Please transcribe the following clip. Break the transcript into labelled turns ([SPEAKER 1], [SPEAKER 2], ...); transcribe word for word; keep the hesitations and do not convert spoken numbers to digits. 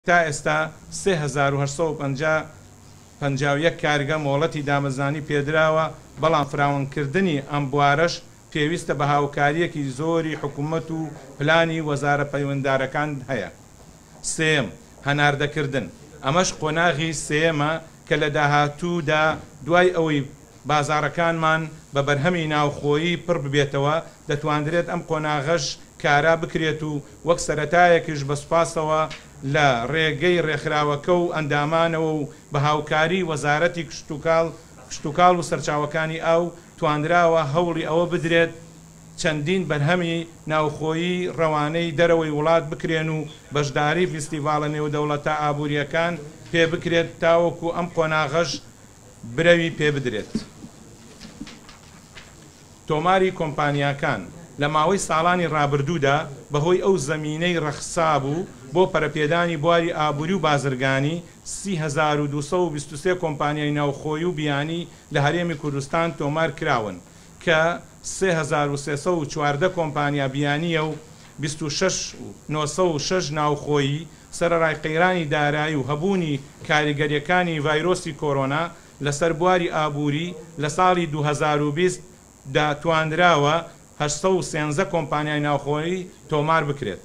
[SPEAKER 1] تا ئێستا سێ هەزار و هەشت سەد و پەنجا پەنجا و یەک کارگە مۆڵەتی دامەزرانی پێدراوە، بەڵام فراوانکردنی ئەم بوارەش پێویستە بە هاوکارییەکی زۆری حکومەت و پلانی وەزارە پەیوەنددارەکان هەیە. سێیەم، هەناردەکردن، ئەمەش قۆناغی سێیەمە کە لە داهاتوودا دوای ئەوەی بازاڕەکانمان بە بەرهەمی ناوخۆیی پڕ ببێتەوە، دەتواندرێت ئەم قۆناغەش کارا بکرێت و وەک سەرەتایەکیش بە سوپاسەوە لە ڕێگەی ڕێکخراوەکە و ئەندامانەوە و بە هاوکاری وەزارەتی کشتوکاڵ کشتوکاڵ و سەرچاوەکانی ئاو توانراوە هەوڵی ئەوە بدرێت چەندین بەرهەمی ناوخۆیی ڕەوانەی دەرەوەی وڵات بکرێن و بەشداری فیستیڤاڵە نێودەوڵەتە ئابوورییەکان پێ بکرێت تاوەکو ئەم قۆناغەش برەوی پێ بدرێت. تۆماری کۆمپانیاکان، لە ماوەی ساڵانی ڕابردوودا بەهۆی ئەو زەمینەی ڕەخسابوو بۆ پەرەپێدانی بواری ئابووری و بازرگانی، سی هەزار و دوو سەد و بیست و سێ کۆمپانیای ناوخۆیی و بیانی لە هەرێمی کوردستان تۆمار کراون کە سێ هەزار و سێ سەد و چواردە کۆمپانیا بیانییە و بیست و شەش و نۆ سەد و شەش ناوخۆیی، سەرەڕای قەیرانی دارایی و هەبوونی کاریگەرییەکانی ڤایرۆسی کۆرۆنا لەسەر بواری ئابووری لە ساڵی دوو هەزار و بیست دا توانراوە هەشت سەد و سێزدە کۆمپانیای ناوخۆیی تۆمار بکرێت.